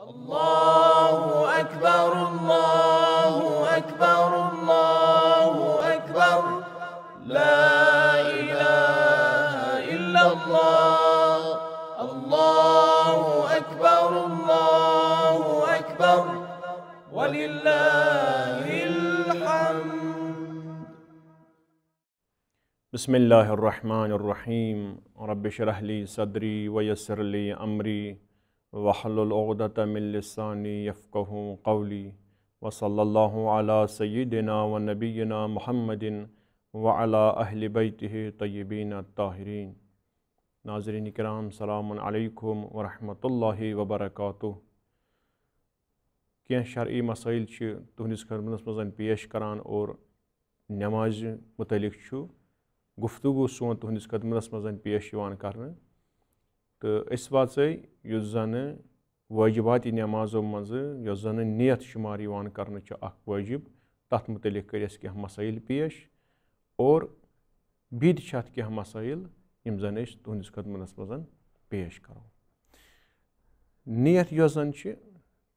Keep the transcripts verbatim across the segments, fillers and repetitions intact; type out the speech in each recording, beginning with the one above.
الله أكبر، الله أكبر، الله أكبر. لا إله إلا الله. الله أكبر، الله أكبر، ولله الحمد. بسم الله الرحمن الرحيم. رب اشرح لي صدري ويسر لي أمري واحلل عقدة من لساني يفقهوا قولي. وصلى الله على سيدنا ونبينا محمد وعلى أهل بيته الطيبين الطاهرين. ناظرین کرام، سلام علیکم ورحمۃ اللہ وبرکاتہ۔ کینٛہہ شرعی مسائل چھِ تُہنٛدِس خدمتس منٛز پیش کران اور نمازِ متعلق چھُ گفتگو سون تُہنٛدِس خدمتس منٛز پیش یِوان کرنہٕ۔ تہٕ أسۍ واژے یُس زن واجباتِ نمازو منٛزٕ یۄس زن نیت شمار یِوان کرنہٕ چھِ اکھ وٲجب، تتھ متعلق کٔرۍ اَسہِ کینٛہہ مسائل پیش اور بیٚیہِ تہِ چھِ اتھ کینٛہہ مسائل یِم زن أسۍ تُہنٛدِس خدمتس منٛز پیش کرو۔ نیت یۄس زن چھِ،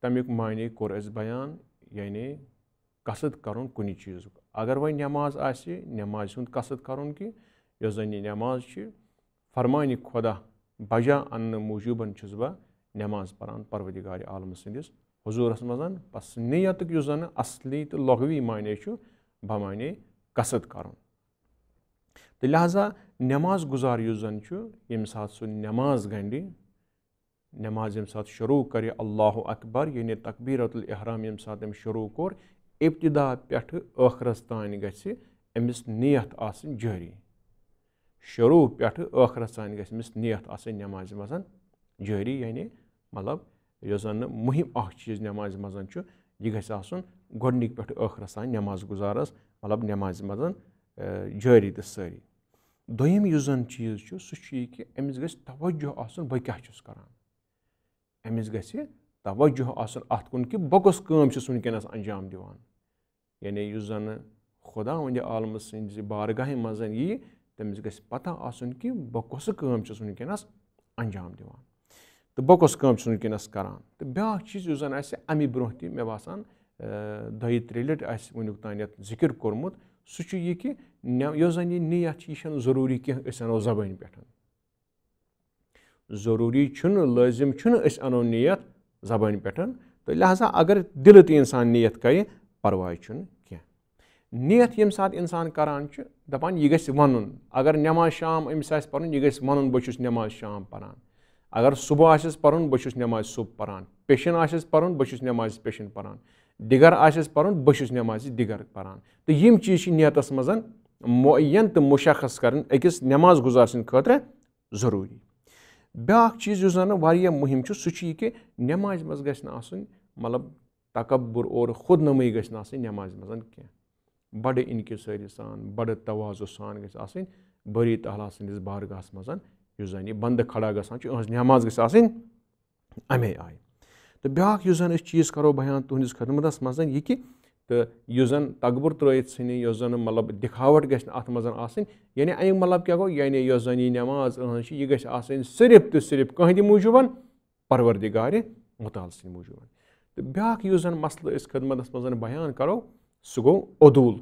تمیُک معنی کوٚر اَسہِ بیان، یعنی قصد کرُن کُنہِ چیٖزُک۔ اگر وۄنۍ نماز آسہِ، نمازِ ہُنٛد قصد کرُن کہِ یۄس زن یہِ نماز چھِ، فرمانِ خدا بجا اننہٕ موٗجوٗبن چھُس بہٕ نماز پران پروردگارِ عالمہٕ سٕنٛدِس حضوٗرس منٛز۔ پس نیتُک یُس زن اصلی تہٕ لغوی معنی چھُ، بمعنی قصد کرُن۔ تہٕ لہذا نماز گُزار یُس زن چھُ، ییٚمہِ ساتہٕ سُہ نماز گنٛڈِ، نماز ییٚمہِ ساتہٕ شروع کرِ، اللہ اکبر، یعنی تکبیرۃ الاحرام ییٚمہِ ساتہٕ أمۍ شروع کوٚر، ابتدا پٮ۪ٹھٕ ٲخرس تام گژھِ أمِس نیت آسٕنۍ جٲری۔ شروع پٮ۪ٹھٕ ٲخرس تام گژھِ أمِس نیت آسٕنۍ نمازِ منٛز جٲری، یعنی مطلب یۄس زن مُہِم اکھ چیٖز نمازِ منٛز چھُ، یہِ گژھِ آسُن گۄڈٕنِکۍ پٮ۪ٹھٕ ٲخرس تام نماز گُزارس، مطلب نمازِ منٛز، اے، جٲری تہٕ سٲری۔ دوٚیِم یُس زن چیٖز چھُ، سُہ چھُ یہِ کہِ أمِس گژھِ توجہ آسُن بہٕ کیٛاہ چھُس کران۔ أمِس گژھِ توجہ آسُن اَتھ کُن کہِ بہٕ کۄس کٲم چھُس وٕنکیٚنَس انجام دِوان۔ یعنی یُس زَنہٕ خۄداوندِ عالمہٕ سٕنٛزِ بارگاہہِ منٛز یی، تٔمِس گژھِ پتہ آسُن کہِ بہٕ کۄسہٕ کٲم چھُس وٕنکیٚنَس انجام دِوان تہٕ بہٕ کۄس کٲم چھُس وٕنکیٚنَس کران۔ تہٕ بیٛاکھ چیٖز یُس زَن اَسہِ اَمہِ برٛونٛہہ تہِ، مےٚ باسان، اَ، دۄیہِ ترٛیٚیہِ لَٹہِ آسہِ وٕنیُک تام یَتھ ذِکِر کوٚرمُت، سُہ چھُ یہِ کہِ نہ-، یۄس زَن یہِ نیت چھِ، یہِ چھَنہٕ ضروٗری کینٛہہ أسۍ اَنو زبٲنۍ پٮ۪ٹھ۔ ضروٗری چھُنہٕ، لٲزِم چھُنہٕ أسۍ اَنو نیت زبٲنۍ پٮ۪ٹھ۔ تہٕ لہذا اگر دِلہٕ تہِ اِنسان نیت کرِ، پرواے چھُنہٕ کینٛہہ۔ نیت ییٚمہِ ساتہٕ اِنسان کران چھُ، دَپان یہِ گژھِ وَنُن۔ اگر نماز شام أمِس آسہِ پَرُن، یہِ گژھِ وَنُن، بہٕ چھُس نماز شام پَران۔ اگر صُبح آسٮ۪س پَرُن، بہٕ چھُس نماز صُبح پَران۔ پیشن آسٮ۪س پَرُن، بہٕ چھُس نماز پیشن پَران۔ دِگر آسٮ۪س پَرُن، بہٕ چھُس نماز دِگر پَران۔ تہٕ یِم چیٖز چھِ نیتَس منٛز معین تہٕ مُشخص کرٕنۍ أکِس نماز گُزار سٕنٛدِ خٲطرٕ ضروٗری۔ بیٛاکھ چیٖز یُس زَن واریاہ مُہِم چھُ، سُہ چھُ یہِ کہِ نمازِ منٛز گژھِ نہٕ آسُن، مطلب، تکبر اور خود نمٲیی گژھِ نہٕ آسٕنۍ نمازِ منٛز کینٛہہ۔ بڑٕ انکسٲری سان، بڑٕ تواضع سان گژھِ آسٕنۍ بٲری تعالیٰ سٕنٛدِس بارگاہَس منٛز، یُس زَن یہِ بندٕ کھڑا گژھان چھُ، یِہٕنٛز نماز گژھِ آسٕنۍ اَمے آیہِ۔ تہٕ بیٛاکھ یُس زَن أسۍ چیٖز کرو بیان تُہٕنٛدِس خدمتَس منٛز، یہِ کہِ، تہٕ یُس زَن تکبر ترٲیِتھ ژھٕنہِ، یۄس زَن، مطلب، دِکھاوٹ گژھِ نہٕ اَتھ منٛز آسٕنۍ۔ یعنی اَمیُک مطلب کیٛاہ گوٚو؟ یعنی یۄس زَن یہِ نماز أہٕنٛز چھِ، یہِ گژھِ آسٕنۍ صرف تہٕ صرف کٕہٕنٛدِ موٗجوٗبَن، پروردگارِ مُتعال سٕنٛدِ موٗجوٗبَن۔ تہٕ بیٛاکھ یُس زَن مسلہٕ أسۍ خدمتَس منٛز بیان کرو، سُہ گوٚو عدوٗل۔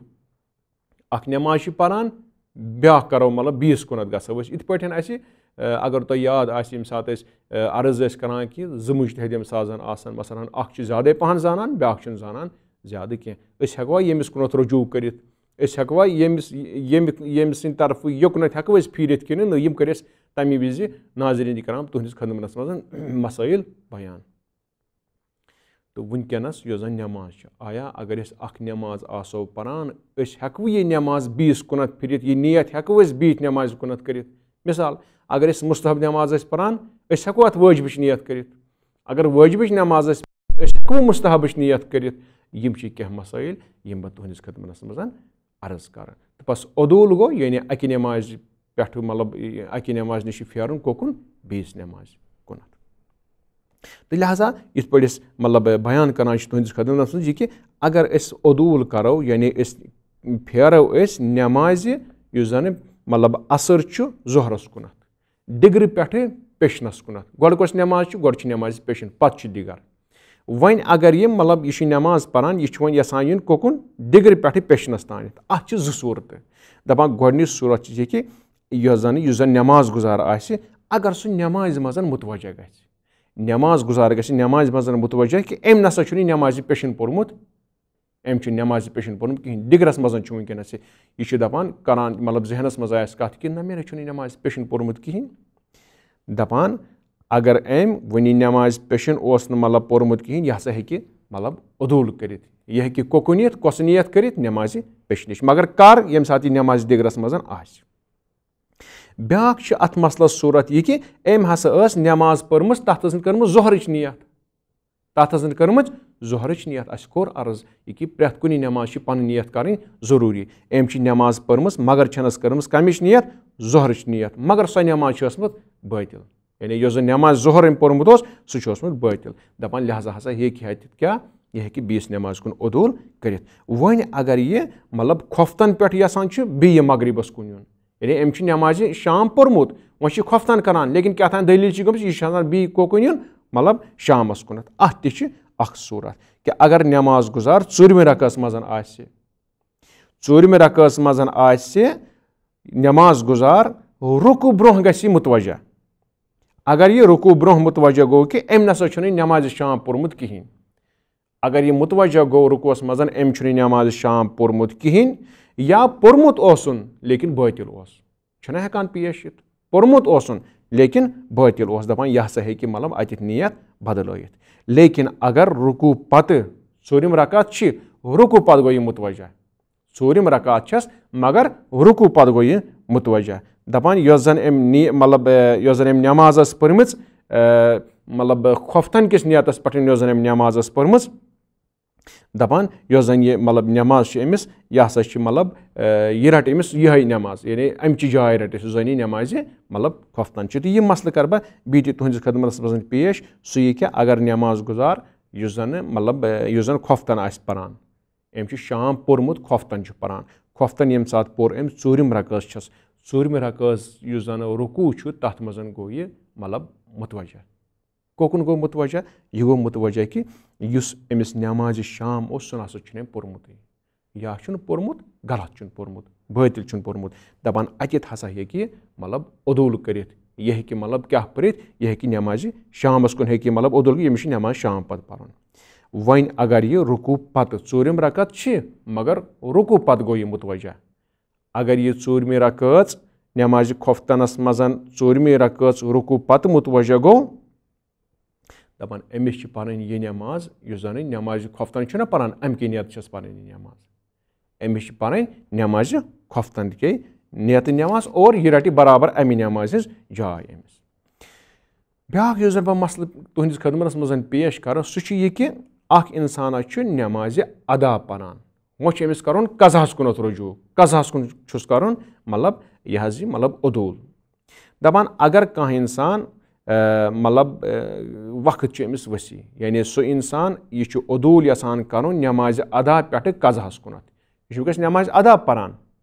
اکھ نماز چھِ پران، بیٛاکھ کرو، مطلب، بیٚیِس کُنتھ گژھو أسۍ۔ یِتھ پٲٹھۍ اَسہِ، اَ، اگر تۄہہِ یاد آسہِ، ییٚمہِ ساتہٕ أسۍ، اَ، عرض ٲسۍ کران کہِ زٕ مُجتہد ییٚمہِ ساتہٕ زَن آسَن، مثلاً، اکھ چھُ زیادَے پَہَن زانان، بیٛاکھ چھُنہٕ زانان زیادٕ کینٛہہ۔ أسۍ ہٮ۪کوا ییٚمِس کُنتھ رجوع کٔرِتھ؟ أسۍ ہٮ۪کوا ییٚمِس، ییٚمہِ، ییٚمہِ سٕنٛدِ طرفہٕ یوٚکنتھ ہٮ۪کو أسۍ پھیٖرِتھ کِنہٕ نہٕ؟ یِم کٔرۍ اَسہِ تَمی وِزِ، ناظریٖن کرام، تُہٕنٛدِس خدمتَس منٛز مسائل بیان۔ تہٕ وٕنکیٚنَس یۄس زَن نماز چھِ، آیا اگر أسۍ اکھ نماز آسو پران، أسۍ ہٮ۪کوٕ یہِ نماز بیٚیِس کُنتھ پھِرِتھ، یہِ نیت ہٮ۪کوٕ أسۍ بیٚیِس نمازِ کُنتھ کٔرِتھ؟ مثال، اگر أسۍ مُستحب نماز ٲسۍ پران، أسۍ ہٮ۪کو اَتھ وٲجبٕچ نیت کٔرِتھ۔ اگر وٲجبٕچ نماز ٲسۍ، أسۍ ہٮ۪کوٕ مُستحبٕچ نیت کٔرِتھ؟ یِم چھِ کینٛہہ مسائل یِم بہٕ تُہٕنٛدِس خدمتَس منٛز عرض کرٕ۔ تہٕ بس عدوٗل گوٚو، یعنی اَکہِ نمازِ پٮ۪ٹھٕ، مطلب، اَکہِ نمازِ نِش چھُ پھیرُن کوکُن؟ بیٚیِس نمازِ کُنتھ۔ تہٕ لہذا یِتھ پٲٹھۍ أسۍ، مطلب، بیان کران چھِ تُہٕنٛدِس خدمتَس منٛز یہِ کہِ اگر أسۍ عدوٗل کرو، یعنی أسۍ پھیرو أسۍ نمازِ، یُس زَنہٕ، مطلب، عصر چھُ ظہرَس کُنتھ، دِگرٕ پٮ۪ٹھٕ پیشنَس کُنتھ۔ گۄڈٕ کۄس نماز چھِ؟ گۄڈٕ چھِ نمازِ پیشن، پتہٕ چھِ دِگر۔ وۄنۍ اگر یہِ، مطلب، یہِ چھُ نٮ۪ماز پران، یہِ چھُ وۄنۍ یژھان یُن کوٚکُن؟ دِگرٕ پٮ۪ٹھٕ پیٚشنَس تانٮ۪تھ۔ اَتھ چھِ زٕ صوٗرتہٕ۔ دَپان، گۄڈٕنِچ صوٗرت چھِ یہِ کہِ یۄس زَن، یُس زَن نٮ۪ماز گُزار آسہِ، اگر سُہ نٮ۪مازِ منٛز مُتوجہ گژھِ، نٮ۪ماز گُزار گژھِ نٮ۪مازِ منٛز مُتوجہ کہِ أمۍ نَسا چھُنہٕ یہِ نٮ۪مازِ پیٚشن پوٚرمُت، أمۍ چھُ نٮ۪مازِ پیٚشن پوٚرمُت کِہیٖنۍ، دِگرَس منٛز چھُ وٕنکیٚنَس یہِ، یہِ چھُ دَپان، کَران، مطلب، ذہنَس منٛز آسہِ کَتھ کہِ نہ، مےٚ نہ چھُنہٕ یہِ نٮ۪مازِ پیٚشن پوٚرمُت کِہیٖنۍ۔ دَپان، اگر أمۍ وٕنہِ نٮ۪مازِ پیٚشن اوس نہٕ، مطلب، پوٚرمُت کِہیٖنۍ، یہِ ہسا ہیٚکہِ، مطلب، عدوٗل کٔرِتھ۔ یہِ ہیٚکہِ کوٚکُن یِتھ، کۄسہٕ نیت کٔرِتھ؟ نٮ۪مازِ پیٚشنٕچ۔ مگر کر؟ ییٚمہِ ساتہٕ یہِ نٮ۪مازِ دِگرَس منٛز آسہِ۔ بیٛاکھ چھِ اَتھ مسلس صوٗرت یہِ کہِ أمۍ ہسا ٲس نٮ۪ماز پٔرمٕژ، تَتھ ٲس نہٕ کٔرمٕژ ظہرٕچ نیت۔ تَتھ ٲس نہٕ کٔرمٕژ ظہرٕچ نیت۔ اَسہِ کوٚر عرض یہِ کہِ پرٛٮ۪تھ کُنہِ نٮ۪مازِ چھِ پنٕنۍ نیت کَرٕنۍ ضروٗری۔ أمۍ چھِ نٮ۪ماز پٔرمٕژ، مگر چھَنَس کٔرمٕژ کَمِچ نیت؟ ظہرٕچ نیت۔ مگر سۄ نٮ۪ماز چھِ ٲسمٕژ بٲطِل۔ یعنی یۄس زَن نٮ۪ماز ظہر أمۍ پوٚرمُت اوس، سُہ چھُ اوسمُت بٲطِل۔ دَپان، لہذا ہسا ہیٚکہِ ہا تہِ کیٛاہ؟ یہِ ہیٚکہِ بیٚیِس نٮ۪مازِ کُن عدوٗل کٔرِتھ۔ وۄنۍ اگر یہِ، مطلب، خۄفتَن پٮ۪ٹھ یَژھان چھُ بیٚیہِ مغرِبَس کُن یُن، یعنی أمۍ چھُ نٮ۪مازِ شام پوٚرمُت، وۄنۍ چھُ یہِ خۄفتَن کران، لیکن کیٛاہ تام دٔلیٖل چھِ گٔمٕژ، یہِ چھُ آسان بیٚیہِ کوٚکُن یُن، مطلب، شامَس کُنَتھ۔ اَتھ تہِ چھِ اَکھ صوٗرت کہِ اگر نٮ۪ماز گُزار ژوٗرمہِ رکعتَس منٛز آسہِ، ژوٗرمہِ رکعتَس منٛز آسہِ نٮ۪ماز گُزار، رُکوٗع برونٛہہ گژھِ یہِ مُتوجہ۔ اگر یہِ رُکوٗع برونٛہہ مُتوجہ گوٚو کہِ أمۍ نسا چھُنہٕ نٮ۪مازِ شام پوٚرمُت کِہیٖنۍ، اگر یہِ مُتوجہ گوٚو رُکوٗعس منٛز، أمۍ چھُنہٕ نٮ۪مازِ شام پوٚرمُت کِہیٖنۍ، یا پوٚرمُت اوسُن لیکن بٲطِل اوس، چھُنہ ہٮ۪کان پیش یِتھ۔ پوٚرمُت اوسُن لیکن بٲطِل اوس، دَپان، یہِ ہسا ہیٚکہِ، مطلب، اَتٮ۪تھ نیت بدلٲیِتھ۔ لیکن اگر رُکوٗع پتہٕ، ژوٗرِم رکعت چھِ، رُکوٗع پتہٕ گوٚو یہِ مُتوجہ، ژوٗرِم رکعت چھَس، مگر رُکوٗع پتہٕ گوٚو یہِ مُتوجہ۔ دَپان، یۄس زَن أمۍ نی-، مطلب، اے، یۄس زَن أمۍ نٮ۪ماز ٲس پٔرمٕژ، اے، مطلب، خۄفتَن کِس نیتَس پٮ۪ٹھ یۄس زَن أمۍ نٮ۪ماز ٲس پٔرمٕژ، دَپان، یۄس زَن یہِ، مطلب، نٮ۪ماز چھِ أمِس، یہِ ہسا چھِ، مطلب، اے، یہِ رَٹہِ أمِس یِہوٚے نٮ۪ماز، یعنی اَمہِ چہِ جایہِ رَٹہِ سُہ زَن یہِ نٮ۪مازِ، مطلب، خۄفتَن چھِ۔ تہٕ یہِ مسلہٕ کَرٕ بہٕ بیٚیہِ تہِ تُہٕنٛدِس خدمتَس منٛز پیش، سُہ یہِ کہِ اگر نٮ۪ماز گُزار، یُس زَن، مطلب، اے، یُس زَن خۄفتَن آسہِ پَران، أمۍ چھُ شام پوٚرمُت، خۄفتَن چھُ پَران۔ خۄفتَن ییٚمہِ ساتہٕ پوٚر أمۍ، ژوٗرِم رکٲژ چھَس، ژوٗرمہِ رکٲژ یُس زَن رُکوٗع چھُ، تَتھ منٛز گوٚو یہِ، مطلب، مُتوجہ۔ کوٚکُن گوٚو مُتوجہ؟ یہِ گوٚو مُتوجہ کہِ یُس أمِس نٮ۪مازِ شام اوس، سُہ نہ سا چھُنہٕ أمۍ پوٚرمُتٕے۔ یا چھُنہٕ پوٚرمُت، غلط چھُنہٕ پوٚرمُت، بٲطِل چھُنہٕ پوٚرمُت۔ دَپان، اَتٮ۪تھ ہسا ہیٚکہِ یہِ، مطلب، عدوٗل کٔرِتھ۔ یہِ ہیٚکہِ، مطلب، کیٛاہ پٔرِتھ؟ یہِ ہیٚکہِ نٮ۪مازِ شامَس کُن ہیٚکہِ یہِ، مطلب، عدوٗل کٔرِتھ، ییٚمِس چھِ نٮ۪ماز شام پَتہٕ پَرُن۔ وۄنۍ اگر یہِ رُکوٗع پتہٕ، ژوٗرِم رکعت چھِ، مگر رُکوٗع پتہٕ گوٚو یہِ مُتوجہ۔ اگر یہِ ژوٗرمہِ رکٲژ نٮ۪مازِ خۄفتَنَس منٛز، ژوٗرمہِ رکٲژ رُکوٗع پتہٕ مُتوجہ گوٚو، دَپان، أمِس چھِ پَرٕنۍ یہِ نٮ۪ماز، یُس زَن یہِ نٮ۪مازِ خۄفتَن چھُنہ پَران، اَمہِ کہِ نیتہٕ چھَس پَرٕنۍ یہِ نٮ۪ماز۔ أمِس چھِ پَرٕنۍ نٮ۪مازِ خۄفتَن کہِ نیتہٕ نٮ۪ماز، اور یہِ رَٹہِ برابر اَمہِ نٮ۪مازِ ہٕنٛز جاے أمِس۔ بیٛاکھ یُس زَن بہٕ مسلہٕ تُہٕنٛدِس خدمتَس منٛز پیش کَرٕ، سُہ چھُ یہِ کہِ اَکھ اِنسان چھُ نٮ۪مازِ ادا پَران، وۄنۍ چھُ أمِس کَرُن قضاہَس کُنَتھ رجوع، قضاہَس کُن چھُس کَرُن، مطلب، یہِ حظ یہِ، مطلب، عدوٗل۔ دَپان، اگر کانٛہہ اِنسان، آ، مطلب، آ، وقت چھُ أمِس ؤسی، یعنی سُہ اِنسان، یہِ چھُ عدوٗل یَژھان کَرُن نٮ۪مازِ ادا پٮ۪ٹھٕ قضاہَس کُنَتھ۔ یہِ چھُ وٕنکیٚس نٮ۪مازِ ادا پَران،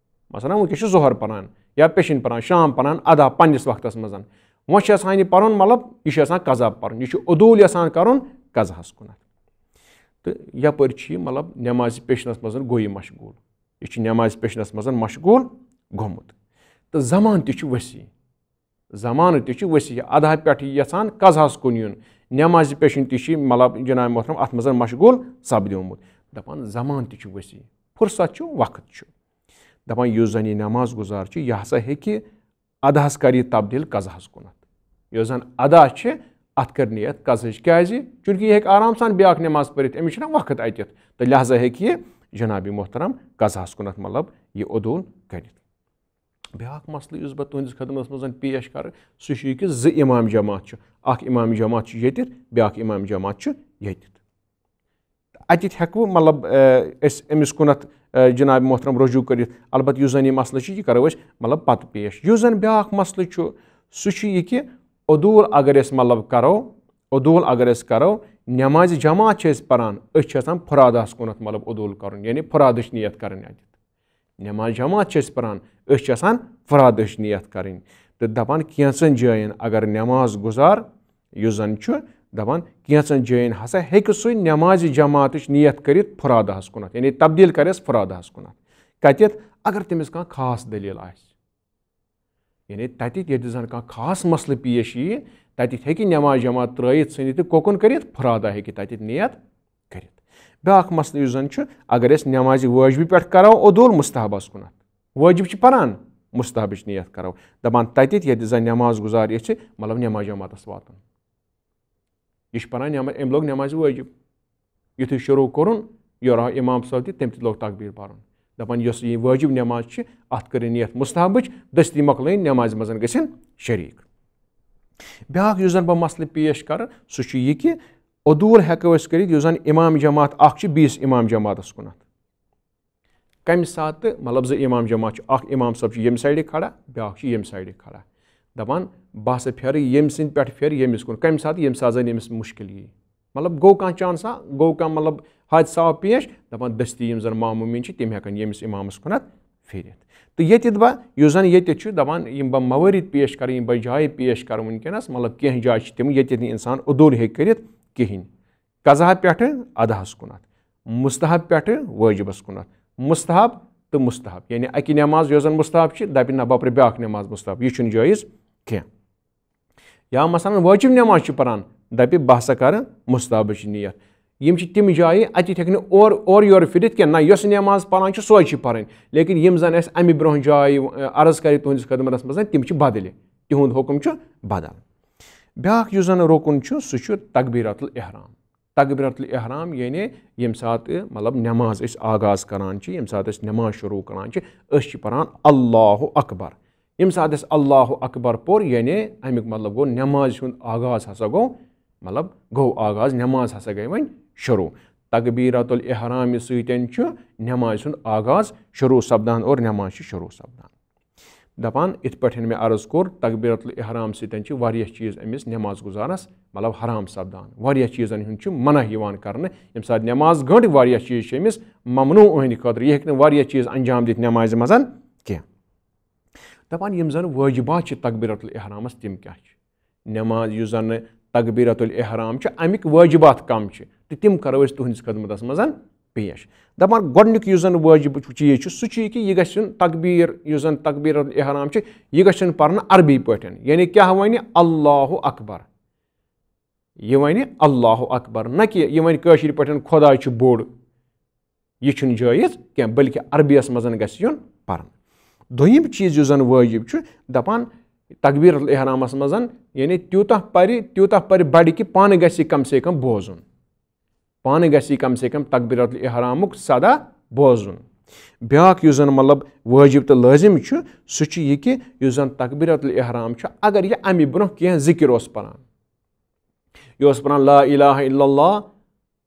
مثلاً، وٕنکیٚس چھُ ظہر پَران یا پیشن پَران، شام پَران ادا پنٛنِس وقتَس منٛز۔ وۄنۍ چھُ یَژھان یہِ پَرُن، مطلب، یہِ چھُ یَژھان قضا پَرُن، یہِ چھُ عدوٗل یَژھان کَرُن قضاہَس کُنَتھ۔ تہٕ یَپٲرۍ چھُ یہِ، مطلب، نٮ۪مازِ پیشنَس منٛز گوٚو یہِ مشغوٗل۔ یہِ چھُ نٮ۪مازِ پیشنَس منٛز مشغوٗل گوٚمُت۔ تہٕ زمانہٕ تہِ چھُ ؤسی۔ زمانہٕ تہِ چھُ ؤسی۔ ادا پٮ۪ٹھ یہِ یَژھان قضاہَس کُن یُن۔ نٮ۪مازِ پیشن تہِ چھِ، مطلب، جناب محترم، اَتھ منٛز مشغوٗل سپدیومُت۔ دَپان، زمانہٕ تہِ چھُ ؤسی۔ فرصت چھُ، وقت چھُ۔ دَپان، یُس زَن یہِ نٮ۪ماز گُزار چھُ، یہِ ہسا ہیٚکہِ اداہَس کَرِ یہِ تبدیٖل قضاہَس کُنَتھ۔ یۄس زَن ادا چھِ، اَتھ کَرِ نیت قضاہٕچ۔ کیٛازِ؟ چوٗنٛکہِ یہِ ہیٚکہِ آرام سان بیٛاکھ نٮ۪ماز پٔرِتھ، أمِس چھُنہ وقت اَتٮ۪تھ۔ تہٕ لہذا ہیٚکہِ یہِ جناب محترم قضاہَس کُنَتھ، مطلب، یہِ عدوٗل کٔرِتھ۔ بیٛاکھ مسلہٕ یُس بہٕ تُہٕنٛدِس خدمتَس منٛز پیش کَرٕ، سُہ چھُ یہِ کہِ زٕ اِمام جماعت چھُ۔ اَکھ اِمام جماعت چھُ ییٚتٮ۪تھ، بیٛاکھ اِمام جماعت چھُ ییٚتٮ۪تھ۔ اَتٮ۪تھ ہٮ۪کہٕ بہٕ، مطلب، اے، أسۍ أمِس کُنَتھ، اے، جناب محترم رجوع کٔرِتھ۔ البتہ یُس زَن یہِ مسلہٕ چھُ، یہِ کَرو أسۍ، مطلب، پَتہٕ پیش۔ یُس زَن بیٛاکھ مسلہٕ چھُ، سُہ چھُ یہِ کہِ عدوٗل اگر أسۍ، مطلب، کَرو، عدوٗل اگر أسۍ کَرو، نٮ۪مازِ جماعت چھِ أسۍ پَران، أسۍ چھِ آسان فرادَس کُنَتھ، مطلب، عدوٗل کَرُن، یعنی فرادٕچ نیت کَرٕنۍ اَتٮ۪تھ۔ نٮ۪ماز جماعت چھِ أسۍ پَران، أسۍ چھِ آسان فرادٕچ نیت کَرٕنۍ۔ تہٕ دَپان، کینٛژَن جایَن اگر نٮ۪ماز گُزار، یُس زَن چھُ، دپان کینٛژن جاین ہسا ہیٚکہِ سُہ نمازِ جماعتٕچ نیت کٔرِتھ فرادہس کُنتھ، یعنی تبدیل کرٮ۪س فرادہس کُنتھ۔ کتٮ۪تھ؟ اگر تٔمِس کانٛہہ خاص دٔلیٖل آسہِ۔ یعنی تتہِ ییٚتہِ زن کانٛہہ خاص مسلہٕ پیش ییہِ، تتہِ ہیٚکہِ نماز جماعت ترٲیِتھ ژھٕنِتھ تہٕ کوکُن کٔرِتھ، فرادا ہیٚکہِ تتہِ نیت کٔرِتھ۔ بیٛاکھ مسلہٕ یُس زن چھُ، اگر أسۍ نمازِ وٲجبہِ پٮ۪ٹھ کرو عدول مستحبس کُنتھ، وٲجب چھِ پران، مستحبٕچ نیت کرو، دپان تتہِ ییٚتہِ زن نماز گُزار یژھِ، مطلب نماز جماعتس واتُن۔ یہِ چھُ پران نٮ۪ما-، أمۍ لوگ نٮ۪مازِ وٲجِب۔ یُتھُے شروٗع کوٚرُن، یورٕ آو اِمام صٲب تہِ، تٔمۍ تہِ لوگ تکبیٖر پرُن۔ دپان یۄس یہِ وٲجِب نٮ۪ماز چھِ، اتھ کٔرِو نیت مستحبٕچ، دٔستی مۄکلٲیِن نٮ۪مازِ منٛز گٔژھِن شریٖک۔ بیٛاکھ یُس زن بہٕ مسلہٕ پیش کرٕ، سُہ چھُ یہِ کہِ عدوٗل ہٮ۪کو أسۍ کٔرِتھ، یُس زن اِمام جماعت اکھ چھُ بیٚیِس اِمام جماعتس کُنتھ۔ کمہِ ساتہٕ تہٕ مطلب زٕ امام جماعت چھُ، اکھ امام صٲب چھُ ییٚمہِ سایڈٕ کھڑا، بیٛاکھ چھُ ییٚمہِ سایڈٕ کھڑا۔ دپان بہٕ ہسا پھیرٕ ییٚمہِ سٕنٛدِ پٮ۪ٹھ پھیرٕ ییٚمِس کُن۔ کمہِ ساتہٕ؟ ییٚمہِ ساتہٕ زن ییٚمِس مُشکِل یی۔ مطلب گوٚو کانٛہہ چانسا، گوٚو کانٛہہ مطلب حادثہ آو پیش، دپان دٔستی یِم زن ماموٗمین چھِ تِم ہٮ۪کن ییٚمِس امامس کُنتھ پھیرِتھ۔ تہٕ ییٚتہِ بہ-، یُس زن ییٚتہِ چھُ دپان یِم بہ موٲرِد پیش کرٕ، یِم بہ جایہِ پیش کرٕ وٕنکیٚنس، مطلب کینٛہہ جایہِ چھِ تِم ییٚتہِ نہٕ انسان عدوٗل ہیٚکہِ کٔرِتھ کِہینۍ۔ قضا پٮ۪ٹھٕ اداہس کُنتھ، مستحب پٮ۪ٹھٕ وٲجبس کُنتھ۔ مستحب تہٕ مستحب، یعنی اکہِ نٮ۪ماز یۄس زن مستحب چھِ، دپہِ نہ بہٕ پرٕ بیٛاکھ نٮ۪ماز مستحب، یہِ چھُنہٕ جٲیز کینٛہہ۔ یا مثلاً وٲجب نٮ۪ماز چھِ پران، دپہِ بہٕ ہسا کرٕ مستحبٕچ نیت۔ یِم چھِ تِم جایہِ، اتہِ ہیٚکہِ نہٕ اورٕ اورٕ یورٕ پھِرِتھ کینٛہہ، نہ یۄس نٮ۪ماز پران چھِ سۄے چھِ پرٕنۍ، لیکن یِم زن اَسہِ امہِ برونٛہہ جایہِ، ٲ، عرض کرِ تُہنٛدِس خدمتس منٛز، تِم چھِ بدلہِ، تِہُنٛد حُکم چھُ بدل۔ بیٛاکھ یُس زن رُکُن چھُ، سُہ چھُ تکبیرات الاحرام۔ تکبیرات الاحرام، یعنی ییٚمہِ ساتہٕ مطلب نٮ۪ماز أسۍ آغاز کران چھِ، ییٚمہِ ساتہٕ أسۍ نٮ۪ماز شروٗع کران چھِ، أسۍ چھِ پران اللہ اکبر۔ ییٚمہِ ساتہٕ أسۍ اللہ اکبر پوٚر، یعنی اَمیُک مطلب گوٚو نٮ۪مازِ ہُنٛد آغاز ہسا گوٚو، مطلب گوٚو آغاز، نٮ۪ماز ہسا گٔے وۄنۍ شروٗع۔ تکبیرات الاحرامہِ سۭتۍ چھُ نٮ۪مازِ ہُنٛد آغاز شروٗع سپدان اور نٮ۪ماز چھِ شروٗع سپدان۔ دپان، یِتھ پٲٹھۍ مےٚ عرض کوٚر، تکبیرۃ الاحرام سۭتۍ چھِ واریاہ چیٖز أمِس نٮ۪ماز گُزارنس، مطلب، حرام سپدان۔ واریاہ چیٖزن ہُنٛد چھُ منع یِوان کرنہٕ۔ ییٚمہِ ساتہٕ نٮ۪ماز گٔنٛڈ، واریاہ چیٖز چھِ أمِس ممنوع، أہنٛدِ خٲطرٕ۔ یہِ ہیٚکہِ نہٕ واریاہ چیٖز انجام دِتھ نٮ۪مازِ منٛز کینٛہہ۔ دپان، یِم زن وٲجبات چھِ تکبیرۃ الاحرامس، تِم کیٛاہ چھِ؟ نٮ۪ماز، یُس زن تکبیرۃ الاحرام چھِ، امیِکۍ وٲجبات کم چھِ، تہٕ تِم کرو أسۍ تُہنٛدِس خدمتس منٛز پیش۔ دپان، گۄڈنیُک یُس زن وٲجب چیٖز چھُ، سُہ چھُ یہِ کہِ یہِ گژھِ یُن تکبیر، یُس زن تکبیرۃ الاحرام چھِ، یہِ گژھِ یُن پرنہٕ عربی پٲٹھۍ، یعنی کیٛاہ ونہِ؟ اللہ اکبر۔ یہِ ونہِ اللہ اکبر، نہ کہِ یہِ ونہِ کٲشِر پٲٹھۍ خۄداے چھُ بوٚڑ۔ یہِ چھُنہٕ جٲیز کینٛہہ، بلکہِ عربیَس منٛز گژھِ یُن پرنہٕ۔ دوٚیِم چیٖز یُس زَن وٲجِب چھُ، دَپان تکبیرۃ الاحرامَس منٛز، یعنی تیوٗتاہ پَرِ، تیوٗتاہ پَرِ بَڑِ کہِ پانہٕ گژھِ یہِ کم سے کم بوزُن۔ پانہٕ گژھِ یہِ کم سے کم تکبیرۃ الاحرامُک صدا بوزُن۔ بیٛاکھ یُس زَن مطلب وٲجِب تہٕ لٲزِم چھُ، سُہ چھُ یہِ کہِ یُس زَن تکبیرۃ الاحرام چھُ، اگر یہِ اَمہِ برونٛہہ کینٛہہ ذِکِر اوس پَران، یہِ اوس پَران لا الہ الا اللہ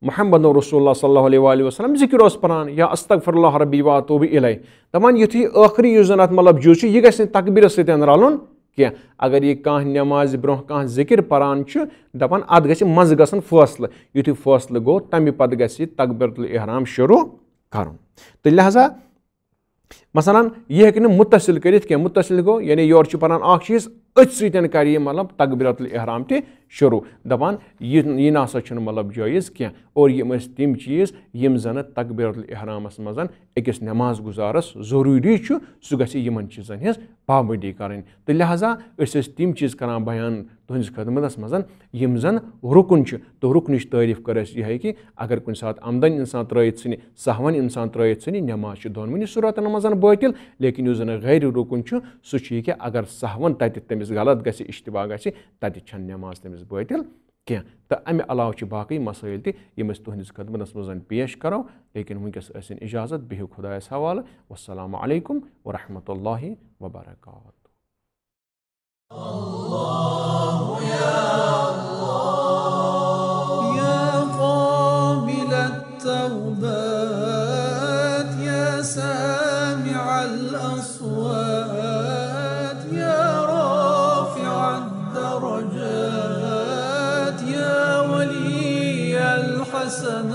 محمد رسول اللہ صلی اللہ علیہ وآلہ وسلم، ذِکِر اوس پَران، یا استغفر اللہ ربی و اتوب الیہ۔ دَپان یُتھُے ٲخری یُس زَن اَتھ مطلب جُز چھُ، یہِ گژھِ نہٕ تکبیٖرَس سۭتۍ رَلُن کینٛہہ۔ اگر یہِ کانٛہہ نٮ۪مازِ برونٛہہ کانٛہہ ذِکِر پَران چھُ، دَپان اَتھ گژھِ منٛزٕ گژھُن فٲصلہٕ۔ یُتھُے فٲصلہٕ گوٚو، تَمہِ پَتہٕ گژھِ یہِ تکبیرۃ الاحرام شروٗع کَرُن۔ تہٕ لہذا مثلاً، یہِ ہیٚکہِ نہٕ مُتصِل کٔرِتھ کینٛہہ۔ مُتصِل گوٚو، یعنی یورٕ چھُ پَران اَکھ چیٖز، أتھۍ سۭتۍ کَرِ یہِ، مطلب، تکبیرۃ الاحرام تہِ شروٗع۔ دَپان، یہِ، یہِ نہ سا چھُنہٕ، مطلب، جٲیِز کینٛہہ۔ اور یِم ٲسۍ تِم چیٖز، یِم زَنہٕ تکبیرۃ الاحرامَس منٛز أکِس نٮ۪ماز گُزارَس ضروٗری چھُ، سُہ گژھِ یِمَن چیٖزَن ہٕنٛز پابندی کَرٕنۍ۔ تہٕ لہذا أسۍ ٲسۍ تِم چیٖز کَران بیان تُہٕنٛدِس خدمتَس منٛز، یِم زَن رُکُن چھُ۔ تہٕ رُکنٕچ تعریٖف کٔر اَسہِ یِہوٚے کہِ اگر کُنہِ ساتہٕ عمدن اِنسان ترٛٲیِتھ ژھٕنہِ، سہون اِنسان ترٛٲیِتھ ژھٕنہِ، نٮ۪ماز چھِ دۄنوٕنی صوٗرتن منٛز بٲطِل، لیکن یُس زَن غیر رُکُن چھُ، سُہ چھُ یہِ کہِ اگر سہون تَتہِ تٔمِس غلط گژھِ، اشتباہ گژھِ، تَتہِ چھَنہٕ نٮ۪ماز تٔمِس بٲطِل کینٛہہ۔ تہٕ اَمہِ علاوٕ چھِ باقٕے مسٲیِل تہِ، یِم أسۍ تُہٕنٛدِس خدمتَس منٛز پیش کَرو، لیکن وٕنکیٚس ٲسِن اجازت، بِہِو خۄدایَس حوالہٕ۔ والسلام علیکم ورحمۃ اللہ وبرکاتہ۔ يا قابل التوبات، يا سامع الأصوات، يا رافع الدرجات، يا ولي الحسنات.